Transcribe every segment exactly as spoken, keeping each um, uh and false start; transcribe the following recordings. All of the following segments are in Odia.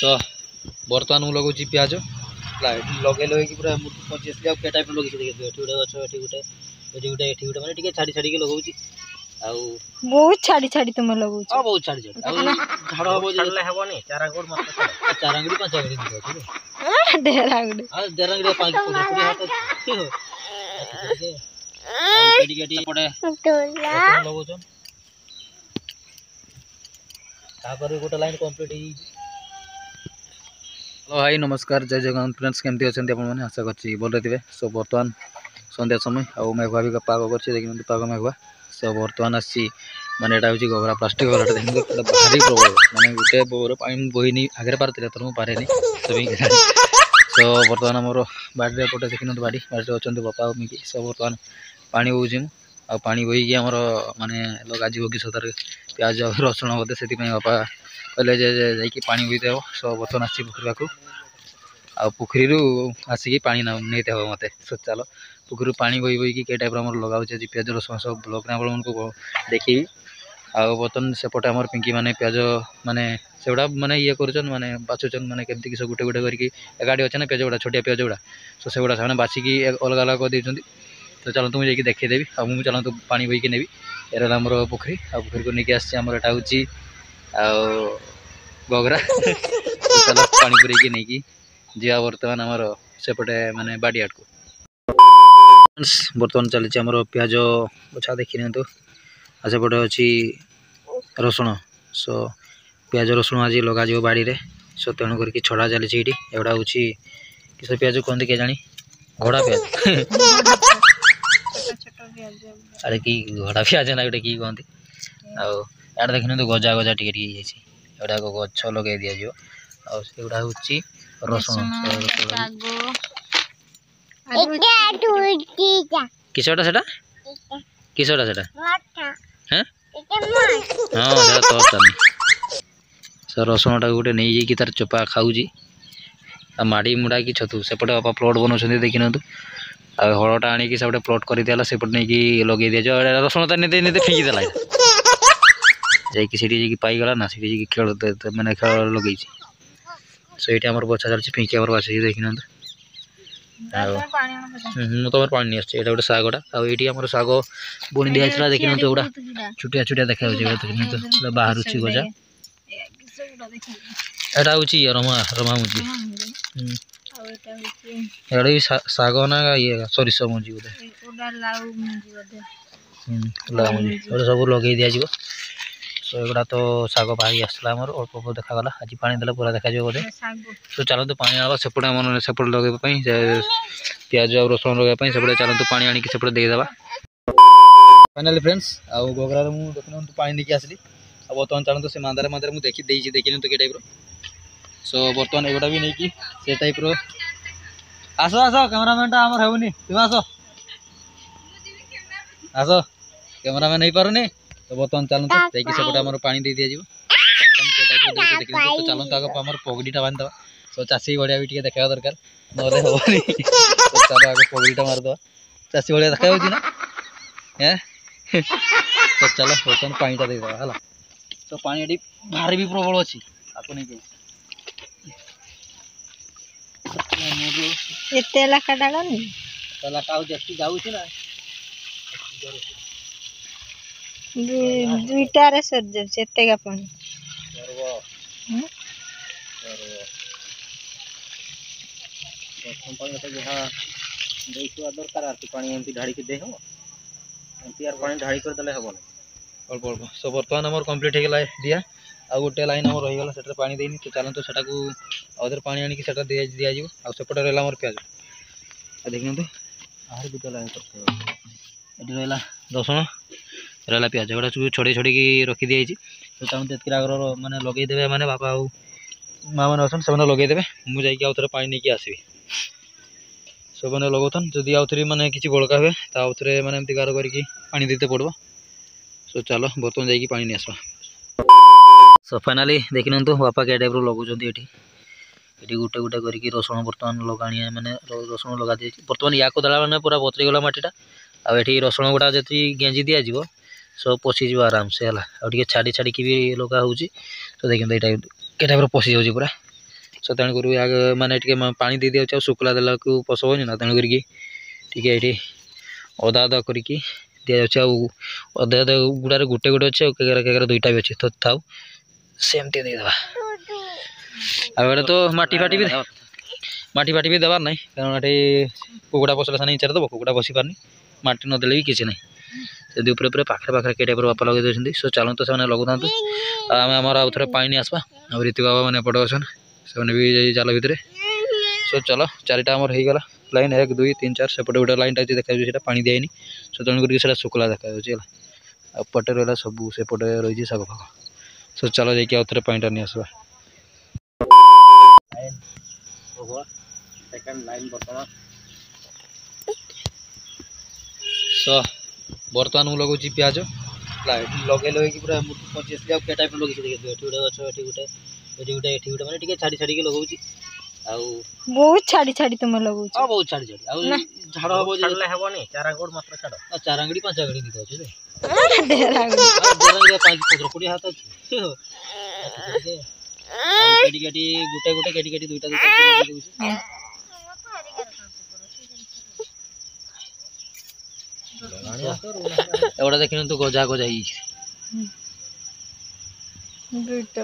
ସୋ ବର୍ତ୍ତମାନ ମୁଁ ଲଗାଉଛି ପିଆଜ ହେଲା। ଏଠି ଲଗେଇ ଲଗେଇକି ପୁରା ମୁଁ ପହଞ୍ଚି ଆସିଲି। ଆଉ କେ ଟାଇପ୍ର ଲଗେଇଛି ଦେଖନ୍ତୁ। ଏଠି ଗୋଟେ ଗଛ, ଏଠି ଗୋଟେ, ଏଠି ଗୋଟେ, ଏଠି ଗୋଟେ, ମାନେ ଟିକେ ଛାଡ଼ି ଛାଡ଼ିକି ଲଗାଉଛି ଆଉ ବହୁତ ଛାଡ଼ି ଛାଡ଼ି ତୁମେ ଲଗାଉଛ। ହଁ, ବହୁତ ଛାଡ଼ି ଛାଡ଼ି। ଆଉ ଝାଡ଼ ହବ ଯେ ଛାଡ଼ିଲେ ହେବନି, ଚାର ଆଙ୍ଗୁଠି ମତେ ଚାର ଆଙ୍ଗୁଠି ପାଞ୍ଚ ଆଙ୍ଗୁଠି ଅଛି। ଢେର ଆଙ୍ଗୁଠି। ଆଉ ଦେଢ଼ ଆଙ୍ଗୁଠି, ପାଞ୍ଚ, ପନ୍ଦର, କୋଡ଼ିଏ ହାତ ଟିକେ। ଆଉ ଟିକେ ଟିକେ ଏପଟେ ରସୁଣ ଲଗାଉଛନ୍। ତାପରେ ଗୋଟେ ଲାଇନ୍ କମ୍ପ୍ଲିଟ୍ ହେଇଯାଇଛି। ହ୍ୟାଲୋ, ହାଇ, ନମସ୍କାର, ଜୟ ଜଗନ୍ନାଥ ଫ୍ରେଣ୍ଡସ୍। କେମିତି ଅଛନ୍ତି ଆପଣମାନେ? ଆଶା କରୁଛି ଭଲରେ ଥିବେ। ସୋ ବର୍ତ୍ତମାନ ସନ୍ଧ୍ୟା ସମୟ ଆଉ ମେଘୁଆ ବି ପାଗ କରିଛି। ଦେଖିନିଅନ୍ତୁ, ପାଗ ମେଘୁଆ। ସୋ ବର୍ତ୍ତମାନ ଆସିଛି, ମାନେ ଏଇଟା ହେଉଛି ଗଗରା, ପ୍ଲାଷ୍ଟିକ୍ ଗଗରାଟା। ଦେଖନ୍ତୁ, ଏଇଟା ଭାରି ପ୍ରବଳ, ମାନେ ଗୋଟେ ବୋର ପାଣି ମୁଁ ବୋହିନି। ଆଗରେ ପାରୁଥିଲି, ଏଥର ମୁଁ ପାରେନି। ସୋ ବର୍ତ୍ତମାନ ଆମର ବାଡ଼ିରେ ଏପଟେ ଦେଖିନିଅନ୍ତୁ, ବାଡ଼ି ବାଡ଼ିରେ ଅଛନ୍ତି ବାପା ଆଉ ମିକି। ସୋ ବର୍ତ୍ତମାନ ପାଣି ବୋହୁଛି ମୁଁ, ଆଉ ପାଣି ବୋହିକି ଆମର ମାନେ ଲଗାଯିବ କି ସତରେ ପିଆଜ ଆଉ ରସୁଣ ବୋଧେ। ସେଥିପାଇଁ ବାପା କହିଲେ ଯେ ଯାଇକି ପାଣି ବୋହିଦେବ। ସୋ ବର୍ତ୍ତମାନ ଆସିଛି ପୋଖରୀ ପାଖକୁ, ଆଉ ପୋଖରୀରୁ ଆସିକି ପାଣି ନେଇତେ ହେବ ମୋତେ। ସୋ ଚାଲ, ପୋଖରୀରୁ ପାଣି ବୋହି ବୋହିକି କେ ଟାଇପ୍ର ଆମର ଲଗାଉଛି ଆଜି ପିଆଜ ରସୁଣ, ସବୁ ବ୍ଲଗ୍ରେ ଆପଣମାନଙ୍କୁ ଦେଖେଇବି। ଆଉ ବର୍ତ୍ତମାନ ସେପଟେ ଆମର ପିଙ୍କି ମାନେ ପିଆଜ ମାନେ ସେଗୁଡ଼ା ମାନେ ଇଏ କରୁଛନ୍, ମାନେ ବାଛୁଛନ୍, ମାନେ କେମିତି କି ସବୁ ଗୋଟେ ଗୋଟେ କରିକି ଏକାଠି ଅଛି ନା ପିଆଜ ଗୁଡ଼ା, ଛୋଟିଆ ପିଆଜ ଗୁଡ଼ା। ସୋ ସେଗୁଡ଼ା ସେମାନେ ବାଛିକି ଅଲଗା ଅଲଗା କରିଦେଇଛନ୍ତି। ତ ଚାଲନ୍ତୁ, ମୁଁ ଯାଇକି ଦେଖେଇଦେବି। ଆଉ ମୁଁ ଚାଲନ୍ତୁ ପାଣି ବୋହିକି ନେବି। ଏଇଟା ହେଲା ଆମର ପୋଖରୀ, ଆଉ ପୋଖରୀକୁ ନେଇକି ଆସିଛି ଆମର, ଏଇଟା ହେଉଛି ଆଉ ଗଗରା। ଚାଲ, ପାଣି ପୁରେଇକି ନେଇକି ଯିବା ବର୍ତ୍ତମାନ ଆମର ସେପଟେ ମାନେ ବାଡ଼ି ଆଡ଼କୁ। ବର୍ତ୍ତମାନ ଚାଲିଛି ଆମର ପିଆଜ ବଛା, ଦେଖି ନିଅନ୍ତୁ। ଆଉ ସେପଟେ ଅଛି ରସୁଣ। ସୋ ପିଆଜ ରସୁଣ ଆଜି ଲଗାଯିବ ବାଡ଼ିରେ। ସୋ ତେଣୁ କରିକି ଛଡ଼ା ଚାଲିଛି ଏଇଠି। ଏଗୁଡ଼ା ହେଉଛି କିସ ପିଆଜ କୁହନ୍ତି କେଜାଣି, ଘୋଡ଼ା ପିଆଜ। ଆରେ କି ଘୋଡ଼ା ପିଆଜ ନା ଗୋଟେ କି କୁହନ୍ତି। ଆଉ ଏଆଡ଼େ ଦେଖିନିଅନ୍ତୁ, ଗଜା ଗଜା ଟିକେ ଟିକେ ହେଇଯାଇଛି। ଏଗୁଡ଼ାକ ଗଛ ଲଗେଇ ଦିଆଯିବ। ଆଉ ସେଗୁଡ଼ା ହେଉଛି ରସୁଣ। କିସଟା ସେଟା? କିସଟା ସେଟା? হ্যাঁ ହଁ, ସେଟା ତ ଚାଲି। ସେ ରସୁଣଟାକୁ ଗୋଟେ ନେଇଯାଇକି ତାର ଚୋପା ଖାଉଛି ଆଉ ମାଡ଼ି ମୁଡ଼ାକି ଛତୁ। ସେପଟେ ବାପା ପ୍ଲଟ୍ ବନାଉଛନ୍ତି, ଦେଖିନିଅନ୍ତୁ। ଆଉ ହଳଟା ଆଣିକି ସେପଟେ ପ୍ଲଟ୍ କରିଦିଆଲା, ସେପଟେ ନେଇକି ଲଗେଇ ଦିଆଯିବ। ରସୁଣ ତା ନେଇ ନେଇ ଫିଙ୍ଗିଦେଲା ଯାଇକି ସେଠି ଯାଇକି ପାଇଗଲା ନା, ସେଠି ଯାଇକି ଖେଳ ମାନେ ଖେଳ ଲଗେଇଛି। ସେଇଠି ଆମର ବଛା ଚାଲିଛି, ପିଙ୍କି ଆମର ବାଛୁଛି, ଦେଖିନିଅନ୍ତୁ। ଆଉ ମୁଁ ତମର ପାଣି ନେଇ ଆସୁଛି। ଏଇଟା ଗୋଟେ ଶାଗଟା, ଆଉ ଏଇଠି ଆମର ଶାଗ ବୁଣି ଦିଆଯାଇଥିଲା, ଦେଖିନିଅନ୍ତୁ। ଏଗୁଡ଼ା ଛୋଟିଆ ଛୋଟିଆ ଦେଖାଯାଉଛି, ଦେଖିନିଅନ୍ତୁ, ବାହାରୁଛି ଗଜା। ଏଇଟା ହେଉଛି ଇଏ ରମା ରମା ମଞ୍ଜି। ଏଇଟା ବି ଶାଗ ନା ଇଏ ସୋରିଷ ମଞ୍ଜି ବୋଧେ, ଲାଉ ମଞ୍ଜି। ଏଗୁଡ଼ା ସବୁ ଲଗେଇ ଦିଆଯିବ। ସୋ ଏଗୁଡ଼ା ତ ଶାଗ ବାହାରି ଆସିଲା ଆମର, ଅଳ୍ପ ଅଳ୍ପ ଦେଖାଗଲା। ଆଜି ପାଣି ଦେଲେ ପୁରା ଦେଖାଯିବ ବୋଧେ। ତ ଚାଲନ୍ତୁ ପାଣି ଆଣିବା ସେପଟେ, ଆମର ସେପଟେ ଲଗେଇବା ପାଇଁ, ପିଆଜ ଆଉ ରସୁଣ ଲଗେଇବା ପାଇଁ ସେପଟେ। ଚାଲନ୍ତୁ, ପାଣି ଆଣିକି ସେପଟେ ଦେଇଦେବା। ଫାଇନାଲି ଫ୍ରେଣ୍ଡସ୍, ଆଉ ଗଗରାରେ ମୁଁ ଦେଖିନିଅନ୍ତୁ ପାଣି ନେଇକି ଆସିଲି। ଆଉ ବର୍ତ୍ତମାନ ଚାଲନ୍ତୁ, ସେ ମାନ୍ଦାରେ ମାନ୍ଦାରେ ମୁଁ ଦେଖି ଦେଇଛି, ଦେଖିନିଅନ୍ତୁ କି ଟାଇପ୍ର। ସୋ ବର୍ତ୍ତମାନ ଏଗୁଡ଼ା ବି ନେଇକି ସେ ଟାଇପ୍ର। ଆସ ଆସ, କ୍ୟାମେରାମ୍ୟାନ୍ଟା ଆମର ହେଉନି, ତୁମେ ଆସ ଆସ, କ୍ୟାମେରାମ୍ୟାନ୍ ହେଇପାରୁନି। ତ ବର୍ତ୍ତମାନ ଚାଲନ୍ତୁ, ଯାଇକି ସେପଟେ ଆମର ପାଣି ଦେଇ ଦିଆଯିବ। ତ ଚାଲନ୍ତୁ, ଆଗ ଆମର ପଗଡ଼ିଟା ବାନ୍ଧିଦେବା। ତ ଚାଷୀ ଭଳିଆ ବି ଟିକେ ଦେଖାଇବା ଦରକାର, ନହେଲେ ହେବନି। ଚାଲ, ଆଗ ପଗଡ଼ିଟା ମାରିଦେବା। ଚାଷୀ ଭଳିଆ ଦେଖାଯାଉଛି ନା? ହେଁ। ତ ଚାଲ, ବର୍ତ୍ତମାନ ପାଣିଟା ଦେଇଦେବା ହେଲା। ତ ପାଣି ଏଠି ଭାରି ବି ପ୍ରବଳ ଅଛି, ତାକୁ ନେଇକି ଏତେ ଲେଖା ଡାଳନି। ଲେଖା ଆଉ ଯେତିକି ଯାଉଛି ନା। ଦୁଇଟାରେ ସରିଯାଉଛି ଏତେକା ପାଣି। ପ୍ରଥମ ପାଣି ତ ଯାହା ଦେଇଥିବା ଦରକାର, ଆଉ ପାଣି ଏମିତି ଢାଳିକି ଦେଇ ହେବ? ଏମିତି ଆର ପାଣି ଢାଳି କରିଦେଲେ ହେବନି, ଅଳ୍ପ ଅଳ୍ପ। ସୋ ବର୍ତ୍ତମାନ ଆମର କମ୍ପ୍ଲିଟ୍ ହେଇଗଲା ଦିଆ। ଆଉ ଗୋଟେ ଲାଇନ୍ ଆମର ରହିଗଲା, ସେଟାରେ ପାଣି ଦେଇନି। ତ ଚାଲନ୍ତୁ, ସେଟାକୁ ଆଉ ଥରେ ପାଣି ଆଣିକି ସେଟା ଦିଆଯିବ। ଆଉ ସେପଟେ ରହିଲା ଆମର ପିଆଜ, ଆଉ ଦେଖିନିଅନ୍ତୁ। ଆହୁରି ଦୁଇଟା ଲାଇନ୍ ଏଠି ରହିଲା ରସୁଣ, ରହିଲା ପିଆଜ। ଏଗୁଡ଼ା ସବୁ ଛଡ଼େଇ ଛଡ଼େଇକି ରଖିଦିଆଯାଇଛି। ତ ଚାଲନ୍ତୁ, ଏତିକି ଆଗର ମାନେ ଲଗେଇଦେବେ, ମାନେ ବାପା ଆଉ ମା ମାନେ ଅଛନ୍ତି, ସେମାନେ ଲଗେଇଦେବେ। ମୁଁ ଯାଇକି ଆଉ ଥରେ ପାଣି ନେଇକି ଆସିବି। ସେମାନେ ଲଗାଉଥାନ୍, ଯଦି ଆଉ ଥରେ ମାନେ କିଛି ବଳକା ହୁଏ, ତା ଆଉ ଥରେ ମାନେ ଏମିତି ଗାର କରିକି ପାଣି ଦେଇତେ ପଡ଼ିବ। ସୋ ଚାଲ, ବର୍ତ୍ତମାନ ଯାଇକି ପାଣି ନେଇ ଆସିବା। ସୋ ଫାଇନାଲି ଦେଖିନିଅନ୍ତୁ, ବାପା କେ ଟାଇପ୍ର ଲଗାଉଛନ୍ତି ଏଠି। ଏଠି ଗୋଟେ ଗୋଟେ କରିକି ରସୁଣ ବର୍ତ୍ତମାନ ଲଗାଣିଆ, ମାନେ ରସୁଣ ଲଗା ଦିଆଯାଇଛି। ବର୍ତ୍ତମାନ ୟାକୁ ଦେଲା ମାନେ ପୁରା ବତରି ଗଲା ମାଟିଟା। ଆଉ ଏଠି ରସୁଣ ଗୁଡ଼ା ଯଦି ଗେଞ୍ଜି ଦିଆଯିବ, ସବୁ ପଶିଯିବ ଆରାମସେ ହେଲା। ଆଉ ଟିକେ ଛାଡ଼ି ଛାଡ଼ିକି ବି ଲଗା ହେଉଛି। ତ ଦେଖନ୍ତୁ, ଏଇଟା କେ ଟାଇପ୍ର ପଶିଯାଉଛି ପୁରା। ସୋ ତେଣୁକରି ଆଗ ମାନେ ଟିକେ ପାଣି ଦେଇ ଦିଆଯାଉଛି ଆଉ ଶୁଖିଲା ଦେଲାକୁ ପଶବନି ନା ତେଣୁ କରିକି ଟିକେ ଏଇଠି ଅଦା ଅଦା କରିକି ଦିଆଯାଉଛି ଆଉ ଅଧା ଅଧା ଗୁଡ଼ାରେ ଗୋଟେ ଗୋଟେ ଅଛି ଆଉ କେଗାରେ କେଗାରେ ଦୁଇଟା ବି ଅଛି ତ ଥାଉ ସେମିତି ଦେଇଦେବା ଆଉ ଏଇଟା ତ ମାଟି ଫାଟି ବି ମାଟି ଫାଟି ବି ଦେବାର ନାହିଁ କାରଣ ଏଠି କୁକୁଡ଼ା ପଶିଲେ ସେମାନେ ଇଚାରେ ଦେବ କୁକୁଡ଼ା ବସି ପାରୁନି ମାଟି ନଦେଲେ ବି କିଛି ନାହିଁ ସେମିତି ଉପରେ ଉପରେ ପାଖରେ ପାଖରେ କେ ଟାଇପ୍ର ବାପା ଲଗେଇ ଦେଉଛନ୍ତି ସୋ ଚାଲନ୍ତୁ ସେମାନେ ଲଗାଉଥାନ୍ତୁ ଆଉ ଆମେ ଆମର ଆଉ ଥରେ ପାଣି ନେଇ ଆସିବା ଆଉ ରୀତି ବାବା ମାନେ ଏପଟେ ଅଛନ୍ ସେମାନେ ବି ଯାଇ ଜାଲ ଭିତରେ ସୋ ଚାଲ ଚାରିଟା ଆମର ହେଇଗଲା ଲାଇନ୍ ଏକ ଦୁଇ ତିନି ଚାରି ସେପଟେ ଗୋଟେ ଲାଇନ୍ଟା ଅଛି ଦେଖାଯାଉଛି ସେଇଟା ପାଣି ଦିଆହେଇନି ସୋ ତେଣୁ କରିକି ସେଇଟା ଶୁଖିଲା ଦେଖାଯାଉଛି ହେଲା ଆଉ ଏପଟେ ରହିଲା ସବୁ ସେପଟେ ରହିଛି ଶାଗ ଫାଗ ସୋ ଚାଲ ଯାଇକି ଆଉ ଥରେ ପାଣିଟା ନେଇ ଆସିବା ଲାଇନ୍ ଓଭର ସେକେଣ୍ଡ ଲାଇନ୍ ବର୍ତ୍ତମାନ ସୋ ବର୍ତ୍ତମାନ ମୁଁ ଲଗାଉଛି ପିଆଜ ହେଲା ଏଠି ଲଗେଇ ଲଗେଇକି ପୁରା ମୁଁ ପହଞ୍ଚି ଆସିଲି ଆଉ କେ ଟାଇପ୍ର ଲଗେଇଛି ଦେଖନ୍ତୁ ଏଠି ଗୋଟେ ଗଛ ଏଠି ଗୋଟେ ଏଠି ଗୋଟେ ଏଠି ଗୋଟେ ମାନେ ଟିକେ ଛାଡ଼ି ଛାଡ଼ିକି ଲଗାଉଛି ଆଉ ବହୁତ ଛାଡ଼ି ଛାଡ଼ି ତୁମେ ଲଗାଉଛ ହଁ ବହୁତ ଛାଡ଼ି ଛାଡ଼ି ଆଉ ଝାଡ଼ ହବ ଯେ ଛାଡ଼ିଲେ ହେବନି ଚାରାଙ୍ଗୁଡ଼ ମାତ୍ର ଛାଡ଼ ଚାରାଙ୍ଗଡ଼ି ପାଞ୍ଚ ଆଙ୍ଗଡ଼ି ଦିଟା ଅଛି ଢେର ଚାରାଙ୍ଗଡ଼ି ପାଞ୍ଚ ପନ୍ଦର କୋଡ଼ିଏ ହାତ ଅଛି ଟିକେ ଆଉ କେଟି କେଟି ଗୋଟେ ଗୋଟେ କେଟି କେଟି ଦୁଇଟା ଦୁଇଟା ଲଗେଇ ଦଉଛି ଏଗୁଡ଼ା ଦେଖିନିଅନ୍ତୁ ଗଜା ଗଜା ହେଇଯାଇଛି ଦୁଇଟା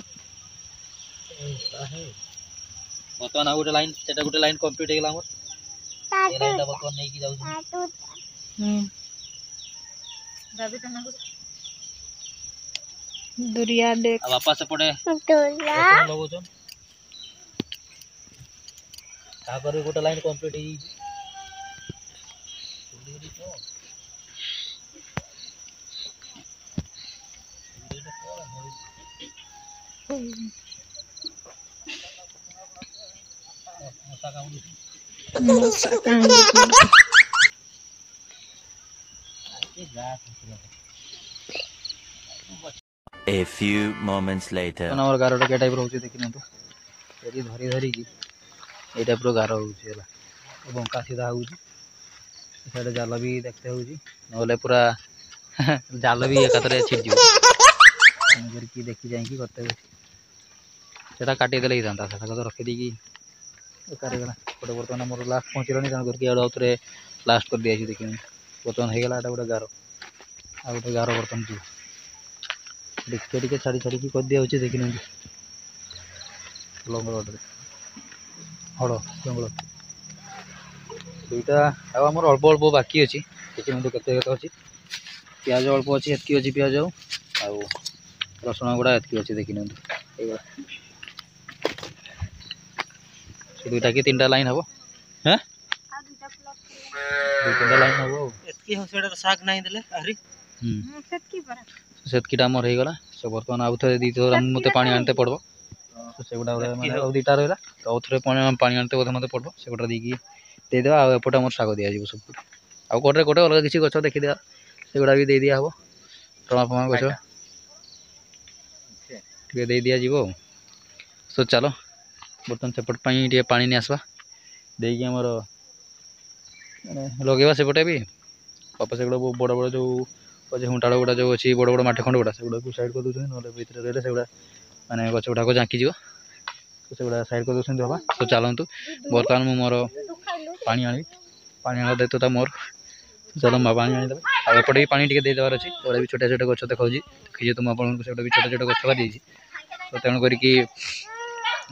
ବର୍ତ୍ତମାନ ଆଉ ଗୋଟେ ଲାଇନ୍ ସେଟା ଗୋଟେ ଲାଇନ୍ କମ୍ପ୍ଲିଟ୍ ହେଇଗଲା ଆମର ଏ ଲାଇନ୍ଟା ବର୍ତ୍ତମାନ ନେଇକି ଯାଉଛି ଦୁରିଆ ଦେଖ ଆଉ ବାପା ସେପଟେ ରସୁଣ ଲଗାଉଛନ୍ ତାପରେ ଗୋଟେ ଲାଇନ୍ କମ୍ପ୍ଲିଟ୍ ହେଇଯାଇଛି ମଶା କାମୁଡୁଛି ମଶା କାମୁଡୁଛି A few moments later. ଆମର ଗାରଟା କେ ଟାଇପ୍ର ହେଉଛି ଦେଖିନିଅନ୍ତୁ ଏଠି ଧରି ଧରିକି ଏଇ ଟାଇପ୍ର ଗାର ହେଉଛି ହେଲା ବଙ୍କା ସିଧା ହେଉଛି ସିଆଡ଼େ ଜାଲ ବି ଦେଖିତେ ହେଉଛି ନହେଲେ ପୁରା ଜାଲ ବି ଏକାଥରେ ଛିଡ଼ିଯିବ ତେଣୁ କରିକି ଦେଖି ଯାଇକି କରତେ ହେଉଛି ସେଟା କାଟିଦେଲେ ହେଇଥାନ୍ତା ସେଟା ତ ରଖିଦେଇକି ବେକାର ହେଇଗଲା ଗୋଟେ ବର୍ତ୍ତମାନ ଆମର ଲାଷ୍ଟ ପହଞ୍ଚିଲାଣି ତେଣୁ କରିକି ଆଡ଼ୁ ଆଉ ଥରେ ଲାଷ୍ଟ କରିଦିଆଯାଇଛି ଦେଖିନି ବର୍ତ୍ତମାନ ହେଇଗଲା ଏଇଟା ଗୋଟେ ଗାର ଆଉ ଗୋଟେ ଗାର ବର୍ତ୍ତମାନ ଯିବ ଟିକେ ଟିକେ ଛାଡ଼ି ଛାଡ଼ିକି କରିଦିଆହେଉଛି ଦେଖିନିଅନ୍ତୁ ଲଙ୍ଗଳରେ ହଳ ଜଙ୍ଗଲ ଦୁଇଟା ଆଉ ଆମର ଅଳ୍ପ ଅଳ୍ପ ବାକି ଅଛି ଦେଖିନିଅନ୍ତୁ କେତେ କେତେ ଅଛି ପିଆଜ ଅଳ୍ପ ଅଛି ଏତିକି ଅଛି ପିଆଜ ଆଉ ଆଉ ରସୁଣ ଗୁଡ଼ା ଏତିକି ଅଛି ଦେଖିନିଅନ୍ତୁ ହେଇଗଲା ସେ ଦୁଇଟା କି ତିନିଟା ଲାଇନ୍ ହେବ ହେଁ ଦୁଇ ତିନିଟା ଲାଇନ୍ ହେବ ଆଉ ଏତିକି ହଉ ସେଇଟା ଶାଗ ନାହିଁ ଦେଲେ ଆହୁରି ହୁଁ ସେତିକି ପରା ସେତିକିଟା ଆମର ହେଇଗଲା ସୋ ବର୍ତ୍ତମାନ ଆଉ ଥରେ ଦୁଇ ଥର ମୋତେ ପାଣି ଆଣିତେ ପଡ଼ିବ ତ ସେଗୁଡ଼ା ମାନେ ଆଉ ଦୁଇଟା ରହିଲା ତ ଆଉ ଥରେ ପାଣି ପାଣି ଆଣିତେ ବୋଧେ ମୋତେ ପଡ଼ିବ ସେଗୁଡ଼ା ଦେଇକି ଦେଇଦେବା ଆଉ ଏପଟେ ଆମର ଶାଗ ଦିଆଯିବ ସବୁ ଆଉ ଗୋଟେ ଗୋଟେ ଅଲଗା କିଛି ଗଛ ଦେଖିଦେବା ସେଗୁଡ଼ା ବି ଦେଇ ଦିଆହେବ ଟମା ଫମା ଗଛ ଟିକେ ଦେଇ ଦିଆଯିବ ଆଉ ସୋ ଚାଲ ବର୍ତ୍ତମାନ ସେପଟ ପାଇଁ ଟିକେ ପାଣି ନେଇ ଆସିବା ଦେଇକି ଆମର ମାନେ ଲଗେଇବା ସେପଟେ ବି ବାପା ସେଗୁଡ଼ା ବଡ଼ ବଡ଼ ଯେଉଁ ଅଛି ହୁଣ୍ଟାଳ ଗୁଡ଼ା ଯେଉଁ ଅଛି ବଡ଼ ବଡ଼ ମାଟି ଖଣ୍ଡ ଗୁଡ଼ା ସେଗୁଡ଼ାକୁ ସାଇଡ଼୍ କରିଦେଉଛନ୍ତି ନହେଲେ ଭିତରେ ରହିଲେ ସେଗୁଡ଼ା ମାନେ ଗଛ ଗୁଡ଼ାକ ଜାଙ୍କିଯିବ ତ ସେଗୁଡ଼ା ସାଇଡ଼୍ କରିଦେଉଛନ୍ତି ବାପା ତ ଚାଲନ୍ତୁ ବର୍ତ୍ତମାନ ମୁଁ ମୋର ପାଣି ଆଣିବି ପାଣି ଆଣିବା ଦାୟିତ୍ୱଟା ମୋର ଚାଲ ମା ପାଣି ଆଣିଦେବେ ଆଉ ଏପଟେ ବି ପାଣି ଟିକେ ଦେଇଦେବାର ଅଛି ଏଗୁଡ଼ା ବି ଛୋଟ ଛୋଟ ଗଛ ଦେଖାଉଛି ଦେଖିଛି ତ ମୁଁ ଆପଣଙ୍କୁ ସେଗୁଡ଼ା ବି ଛୋଟ ଛୋଟ ଗଛ ବାହାରିଯାଇଛି ତ ତେଣୁ କରିକି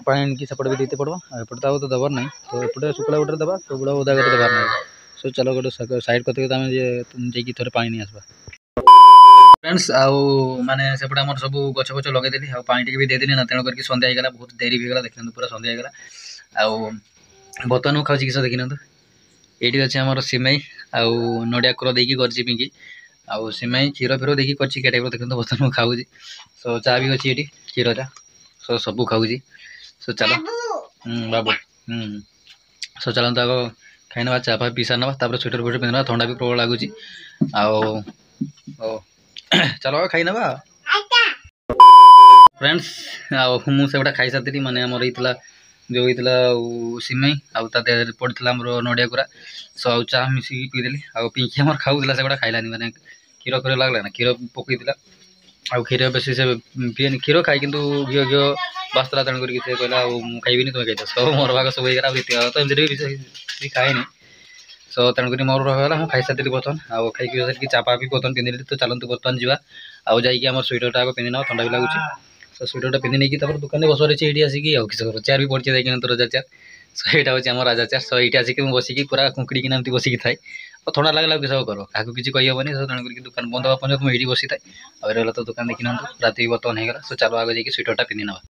ପାଣି ଆଣିକି ସେପଟେ ବି ଦେଇତେ ପଡ଼ିବ ଆଉ ଏପଟେ ତ ଆଉ ତ ଦେବାର ନାହିଁ ତ ଏପଟେ ଶୁଖିଲା ଗୋଟେ ଦେବା ସେଗୁଡ଼ା ଓଦା ଗୋଟେ ଦେବାର ନାହିଁ ସୋ ଚାଲ ଗୋଟେ ସାଇଡ଼୍ କରିଦେଇକି ଆମେ ଯାଇକି ଥରେ ପାଣି ନେଇ ଆସିବା ଫ୍ରେଣ୍ଡସ୍ ଆଉ ମାନେ ସେପଟେ ଆମର ସବୁ ଗଛ ଫଛ ଲଗେଇଦେଲି ଆଉ ପାଣି ଟିକେ ବି ଦେଇଦେଲି ନା ତେଣୁ କରିକି ସନ୍ଧ୍ୟା ହେଇଗଲା ବହୁତ ଡେରି ବି ହେଇଗଲା ଦେଖିନିଅନ୍ତୁ ପୁରା ସନ୍ଧ୍ୟା ହେଇଗଲା ଆଉ ବର୍ତ୍ତମାନ ମୁଁ ଖାଉଛି କିସ ଦେଖିନିଅନ୍ତୁ ଏଇଠି ଅଛି ଆମର ସିମେଇ ଆଉ ନଡ଼ିଆ କୋର ଦେଇକି କରିଛି ପିଙ୍କି ଆଉ ସିମେଇ କ୍ଷୀର ଫିର ଦେଇକି କରିଛି କେ ଟାଇପ୍ର ଦେଖନ୍ତୁ ବର୍ତ୍ତମାନ ମୁଁ ଖାଉଛି ସୋ ଚା ବି ଅଛି ଏଠି କ୍ଷୀର ଚା ସୋ ସବୁ ଖାଉଛି ସୋ ଚାଲ ହୁଁ ବାବୁ ହୁଁ ସୋ ଚାଲନ୍ତୁ ଆଗ ଖାଇନେବା ଚା ଫା ପିଇ ସାରିନେବା ତାପରେ ସ୍ୱେଟର ଫ୍ୱେଟର ପିନ୍ଧିନେବା ଥଣ୍ଡା ବି ପ୍ରବଳ ଲାଗୁଛି ଆଉ ହଉ ଚାଲ ଖାଇନେବା ଫ୍ରେଣ୍ଡସ୍ ଆଉ ମୁଁ ସେଗୁଡ଼ା ଖାଇସାରିଥିଲି ମାନେ ଆମର ହେଇଥିଲା ଯେଉଁ ହେଇଥିଲା ଆଉ ସିମେଇ ଆଉ ତା ଦେହରେ ପଡ଼ିଥିଲା ଆମର ନଡ଼ିଆ କୋରା ସୋ ଆଉ ଚା ମିଶିକି ପିଇଦେଲି ଆଉ ପିଙ୍କି ଆମର ଖାଉଥିଲା ସେଗୁଡ଼ା ଖାଇଲାନି ମାନେ କ୍ଷୀର କ୍ଷୀର ଲାଗିଲା ନା କ୍ଷୀର ପକେଇଥିଲା ଆଉ କ୍ଷୀର ବେଶୀ ସେ ପିଏନି କ୍ଷୀର ଖାଏ କିନ୍ତୁ ଘିଅ ଘିଅ ବାସୁଥିଲା ତେଣୁ କରିକି ସେ କହିଲା ଆଉ ମୁଁ ଖାଇବିନି ତୁମେ ଖାଇଦିଅ ସବୁ ମୋର ଭାଗ ସବୁ ହେଇଗଲା ଆଉ ରିତିକ ଭାଗ ତ ଏମିତିରେ ବି ବି ଖାଏନି ସୋ ତେଣୁକରି ମୋର ରହିଗଲା ମୁଁ ଖାଇସାରିଥିଲି ବର୍ତ୍ତମାନ ଆଉ ଖାଇକି ସାରିକି ଚା ପା ବି ବର୍ତ୍ତମାନ ପିନ୍ଧିଲି ତ ଚାଲନ୍ତୁ ବର୍ତ୍ତମାନ ଯିବା ଆଉ ଯାଇକି ଆମର ସୁଇଟରଟା ଆଗ ପିନ୍ଧି ନେବା ଥଣ୍ଡା ବି ଲାଗୁଛି ସୋ ସୁଇଟରଟା ପିନ୍ଧି ନେଇକି ତାପରେ ଦୋକାନରେ ବସିବାର ଅଛି ଏଇଠି ଆସିକି ଆଉ କିଛି ଚେୟାର ବି ପଡ଼ିଛି ଯାଇକିନା ତ ରାଜା ଚେୟାର ସୋ ଏଇଟା ହେଉଛି ଆମ ରାଜା ଚେୟାର ସୋ ଏଇଠି ଆସିକି ମୁଁ ବସିକି ପୁରା କୁଙ୍କିଡ଼ିକିନା ଏମିତି ବସିକି ଥାଏ ଆଉ ଥଣ୍ଡା ଲାଗିଲା ଆଉ କିଛି କର କାହାକୁ କିଛି କହିହେବନି ସୋ ତେଣୁ କରିକି ଦୋକାନ ବନ୍ଦ ହେବା ପର୍ଯ୍ୟନ୍ତ ମୁଁ ଏଇଠି ବସିଥାଏ ଆଉ ରହିଲା ତ ଦୋକାନ ଦେଖିନାହାନ୍ତୁ ରାତି ବର୍ତ୍ତମାନ ହେଇଗଲା ସୋ ଚାଲ ଆଗ ଯାଇକି ସୁଇଟରଟା ପିନ୍ଧି ନେବା